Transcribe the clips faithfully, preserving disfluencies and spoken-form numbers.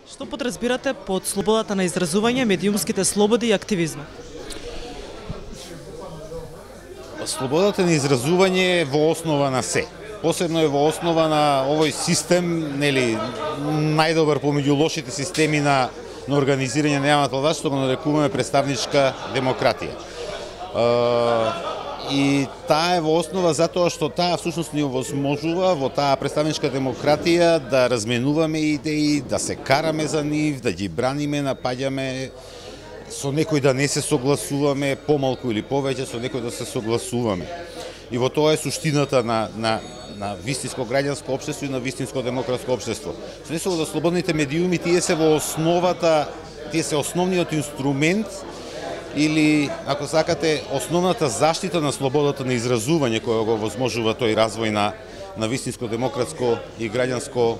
Што подразбирате под слободата на изразување, медиумските слободи и активизмот? Слободата на изразување е во основа на се. Посебно е во основа на овој систем, нели, најдобар помеѓу лошите системи на, на организирање на јавната власт, што го нарекуваме представничка демократија. И таа е во основа затоа што таа всушност ни овозможува во таа представничка демократија да разменуваме идеи, да се караме за нив, да ги браниме, напаѓаме, со некој да не се согласуваме, помалку или повеќе со некој да се согласуваме. И во тоа е суштината на, на, на вистинско граѓанско општество и на вистинско демократско општество. Со несово да слободните медиуми, тие се во основата, тие се основниот инструмент или, ако сакате, основната заштита на слободата на изразување која го возможува тој развој на, на вистинско демократско и граѓанско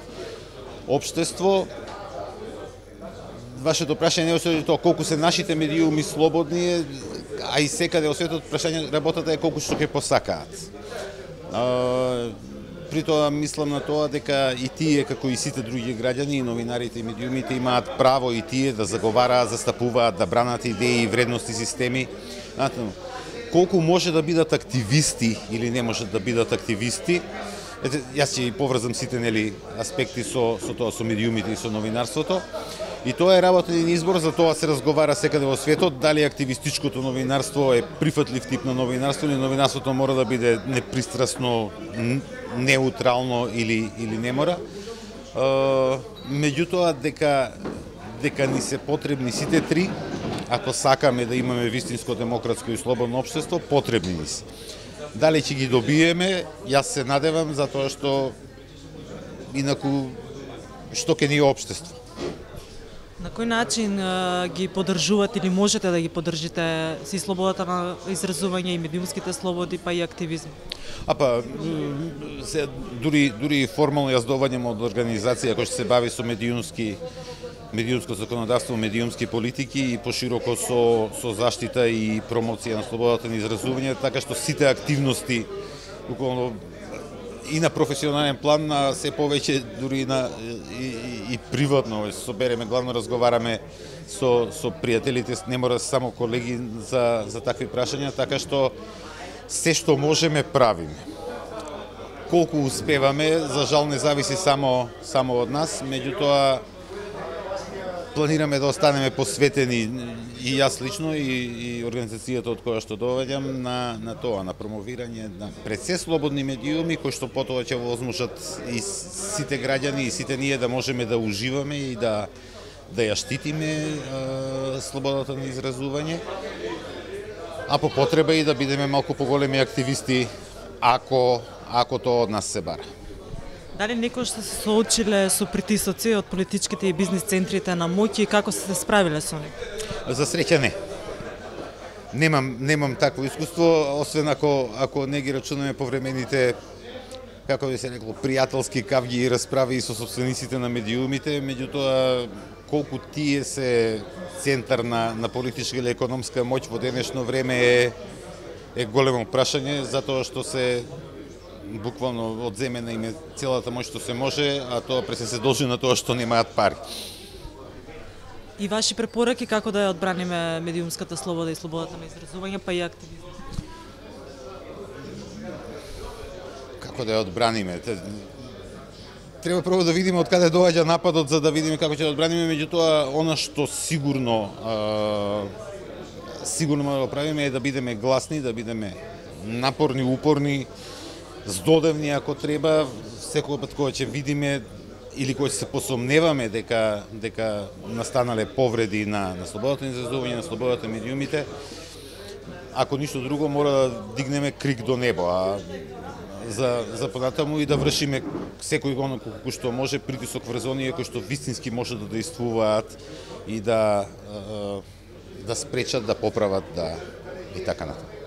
општество. Вашето прашање не е тоа колку се нашите медиуми слободни, а и секаде во светот прашање работата е колку што ќе посакаат. При тоа мислам на тоа дека и тие, како и сите други граѓани, и новинарите и медиумите имаат право и тие да заговараат, застапуваат, да бранат идеи, вредности, системи. Колку може да бидат активисти или не можат да бидат активисти, ете, јас ќе поврзам сите, нели, аспекти со, со тоа, со медиумите и со новинарството. И тоа е работа и избор, за тоа се разговара секаде во светот, дали активистичкото новинарство е прифатлив тип на новинарство или новинарството мора да биде непристрасно, неутрално или или не мора. Меѓутоа дека дека ни се потребни сите три, ако сакаме да имаме вистинско демократско и слободно општество, потребни ни се. Дали ќе ги добиеме, јас се надевам, затоа што инаку што ќе ни е општество. На кој начин а, ги поддржувате или можете да ги поддржите си слободата на изразување и медиумските слободи, па и активизм? А па, се, дури, дури формално јас доваѓам од организација која што се бави со медиумски, медиумско законодавство, медиумски политики и пошироко со, со заштита и промоција на слободата на изразување, така што сите активности буквално и на професионален план, а се повеќе дури на и, и, и приватно собереме, главно разговараме со со пријателите, не мора само колеги за за такви прашања, така што се што можеме правиме. Колку успеваме, за жал не зависи само само од нас, меѓутоа планираме да останеме посветени и јас лично и, и организацијата од која што доваѓам на, на тоа, на промовирање на пред се слободни медиуми кои што потоа ќе возможат и сите граѓани и сите ние да можеме да уживаме и да да ја штитиме е, слободата на изразување, а по потреба и да бидеме малку поголеми активисти ако ако тоа од нас се бара. Дали некој што се соочиле со притисоци од политичките и бизнис центрите на моќ и како се справиле со нив? За среќа не. Немам немам такво искуство, освен ако ако не ги рачунаме повремените, како би се рекло, пријателски кавги и расправи со собствениците на медиумите, меѓутоа колку тие се центар на на политичка или економска моќ во денешно време е е големо прашање, затоа што се буквално одземена им е целата моќ што се може, а тоа пресе се должи на тоа што немаат пари. И ваши препораки како да ја одбраниме медиумската слобода и слободата на изразување, па и активизмот? Како да ја одбраниме? Треба прво да видиме од каде доаѓа нападот за да видиме како ќе ја одбраниме, меѓутоа она што сигурно а, сигурно може да го правиме е да бидеме гласни, да бидеме напорни, упорни, здодевни ако треба, секој пат кога ќе видиме или кога ќе се посомневаме дека дека настанале повреди на на слободата на изразување, на слободата на медиумите, ако ништо друго мора да дигнеме крик до небо, а за за понатаму и да вршиме секој го колку што може притисок врз оние кои што вистински може да действуваат и да да спречат, да поправат, да и така натаму.